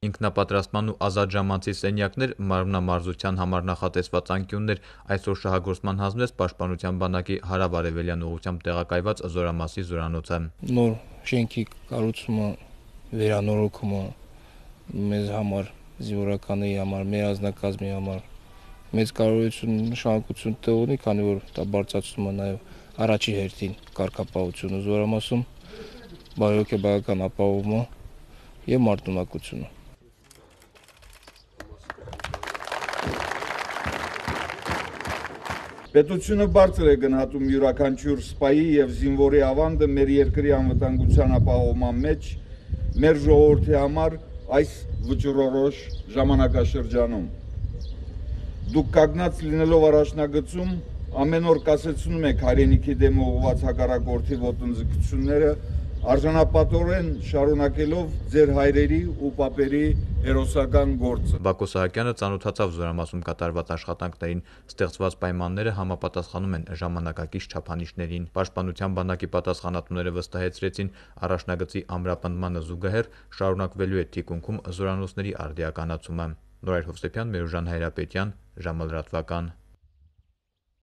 Ինքնապատրաստման ու ազատ ժամանցի սենյակներ, մարմնամարզության համար նախատեսված անկյուններ, այսօր շահագործման հանձնվեց Պաշտպանության բանակի հարավ-արևելյան ուղղությամբ տեղակայված Զորամասի զորանոցը։ Նոր շենքի կառուցումը, վերանորոգումը մեզ համար, զինվորականների համար, մեր անձնակազմի համար մեծ կարևորություն, նշանակություն ունի, քանի որ դա բարձրացնում է նաև առաջի հերթին կարգապահությունը զորամասում, բարոյական ապահովումը եւ մարտունակությունը։ Պետությունը բարձր է գնահատում յուրաքանչյուր սպայի եւ զինվորի ավանդը մեր երկրի անվտանգության ապահովման մեջ, մեր ժողովրդի համար այս վճռորոշ ժամանակաշրջանում։ Դուք կանգնած լինելով առաջնագծում ամեն օր կասեցնում եք հայրենիքի դեմ ուղղված հակառակորդի ոտնձգությունները, արժանապատորեն շարունակելով ձեր հայրերի ու պապերի հերոսական գործը։ Բակո Սահակյանը ծանոթացավ Զորամասում կատարված աշխատանքներին, ստեղծված պայմանները համապատասխանում են ժամանակակից չափանիշներին։ Պաշտպանության բանակի պատասխանատուները վստահեցրեցին, առաջնագծի ամրապնդմանը զուգահեռ շարունակվելու է թիկունքում զորանոցների արդիականացումը։ Նորայր Հովսեփյան, Մերուժան Հայրապետյան, ժամը լրատվական։